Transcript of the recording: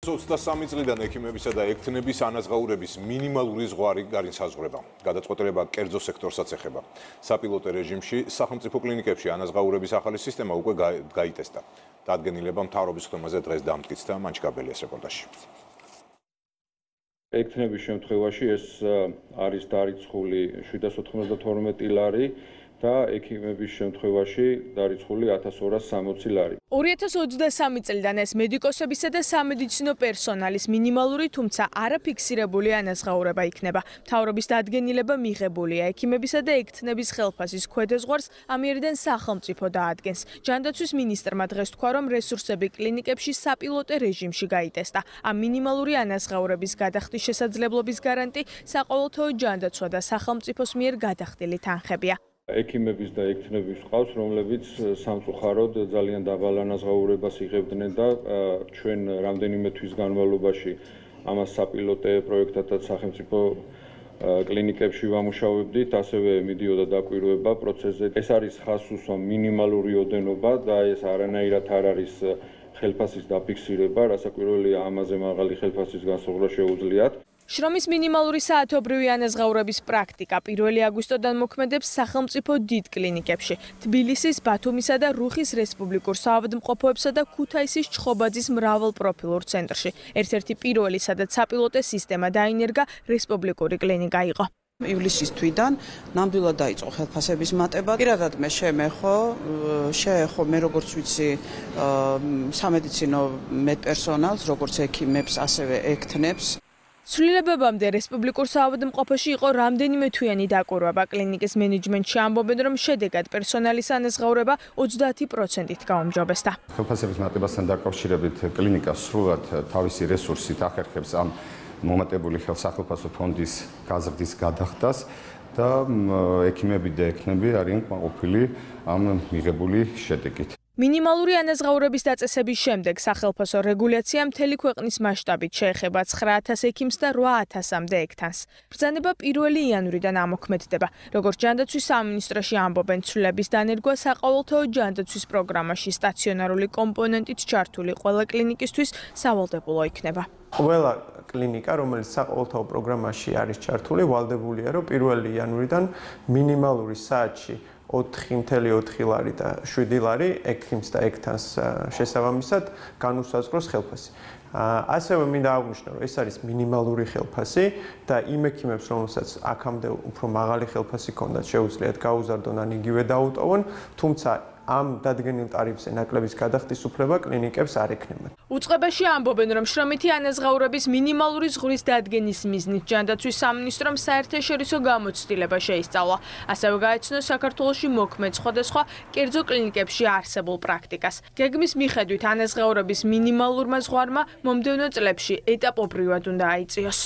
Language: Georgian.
2023 წლიდან ექიმებისა და ექთნების ანაზღაურების მინიმალური ზღვარი განისაზღვრება. გადაწყვეტილება კერძო სექტორსაც ეხება. საპილოტო რეჟიმში სახელმწიფო კლინიკებში ანაზღაურების ახალი სისტემა უკვე გაიტესტა. დადგენილება მთავრობის ხმაზე დღეს დამტკიცდა მანჩგაბელიას რეპორტაჟში. ექთნების შემთხვევაში ეს არის დარიცხული 792 ლარი და ექიმების შემთხვევაში დარიცხული 1260 ლარი. 2023 წლიდან ეს მედიკოსებისა და სამედიცინო პერსონალის მინიმალური, თუმცა არაფიქსირებული ანაზღაურება იქნება. მთავრობის დადგენილება მიღებულია ექიმებისა და ექთნების ხელფასის ქვედაზღვარს ამიერიდან სახელმწიფო დაადგენს. ჯანდაცვის მინისტრმა დღეს თქვა, რომ რესურსები კლინიკებში საპილოტო რეჟიმში გაიტესტა. ამ მინიმალური ანაზღაურების გადახდის შესაძლებლობის გარანტი საყოველთაო ჯანდაცვა და სახელმწიფოს მიერ გადახდილი თანხებია. ექიმების და ექთნების ყავს, რომლებიც სამწუხაროდ ძალიან დაბალ ანაზღაურებას იღებდნენ და ჩვენ რამდენიმე თვის განმავლობაში ამას საპილოტო პროექტად სახელმწიფო კლინიკებში ვამუშავებდით, ასევე მიდიოდა დაკვირვება პროცესზე. ეს არის ხაზსუსვა მინიმალური ოდენობა და ეს არანაირად არ არის ხელფასის დაფიქსირება, რასაკვირველია ამაზე მაღალი ხელფასის განსაზღვრა შეუძლიათ. შრომის მინიმალური საათობრივი ანაზღაურების პრაქტიკა 1 აგვისტოდან მოქმედებს სახელმწიფო დიდ კლინიკებში. თბილისის, ბათუმისა და რუხის რესპუბლიკურ საავადმყოფოებსა და ქუთაისის ჩხობაძის მრავალპროფილურ ცენტრში. ერთ-ერთი პირველი, სადაც საპილოტო სისტემა დაინერგა, რესპუბლიკური კლინიკა იყო. ივლისის თვიდან ნამდვილად დაიწყო ხელფასების მატება. პირადად მე შეეხო მე როგორც ვიცი სამედიცინო მედპერსონალს, როგორც ექიმებს, ასევე ექთნებს. ცვლილებებამდე რესპუბლიკურ საავადმყოფოში იყო რამდენიმე თვიანი დაკვირვება. კლინიკის მენეჯმენტში ამბობენ, რომ შედეგად პერსონალის ანაზღაურება 30%-ით გაუმჯობესდა. ხელფასების მატებასთან დაკავშირებით კლინიკა სრულად თავისი რესურსით ახერხებს ამ მომატებული სახელმწიფო ფონდის გაზრდის გადახდას და ექიმები და ექნები არიან კმაყოფილი ამ მიღებული შედეგით. მინიმალური ანაზღაურების დაწესების შემდეგ სახელმწიფო რეგულაცია მთელი ქვეყნის მასშტაბით შეეხება 9000 ექიმს და 8000-მდე ექთანს. ბრძანება 1 იანვრიდან ამოქმედდება. როგორც ჯანდაცვის სამინისტროში ამბობენ, ცვლილების დანერგვა საყოველთაო ჯანდაცვის პროგრამაში სტაციონარული კომპონენტით ჩართული ყველა კლინიკისთვის სავალდებულო იქნება. ყველა კლინიკა, რომელიც საყოველთაო პროგრამაში არის ჩართული, ვალდებულია, რომ 1 იანვრიდან მინიმალური საათში 4.4 ლარი და 7 ლარი ექიმს და ექთანს შესაბამისად განუსაზღვროს ხელფასი. ასევე მინდა აღვნიშნო, რომ ეს არის მინიმალური ხელფასი და იმ ექიმებს, რომელსაც აქამდე უფრო მაღალი ხელფასი ჰქონდათ, შეუძლიათ გაუზარდონ ან იგივე დაუტოვონ, თუმცა ამ დადგენილ ტარიფზე ნაკლების გადახდის უფლება კლინიკებს არ ექნებათ. უწყებაში ამბობენ, რომ შრომითი ანაზღაურების მინიმალური ზღვრის დადგენის მიზნით ჯანდაცვის სამინისტრომ საერთაშორისო გამოცდილება შეისწავლა. ასევე გაეცნო საქართველოში მოქმედ სხვადასხვა კერძო კლინიკებში არსებულ პრაქტიკას. გეგმის მიხედვით ანაზღაურების მინიმალურმა ზღვარმა მომდევნო წლებში ეტაპობრივად უნდა აიწიოს.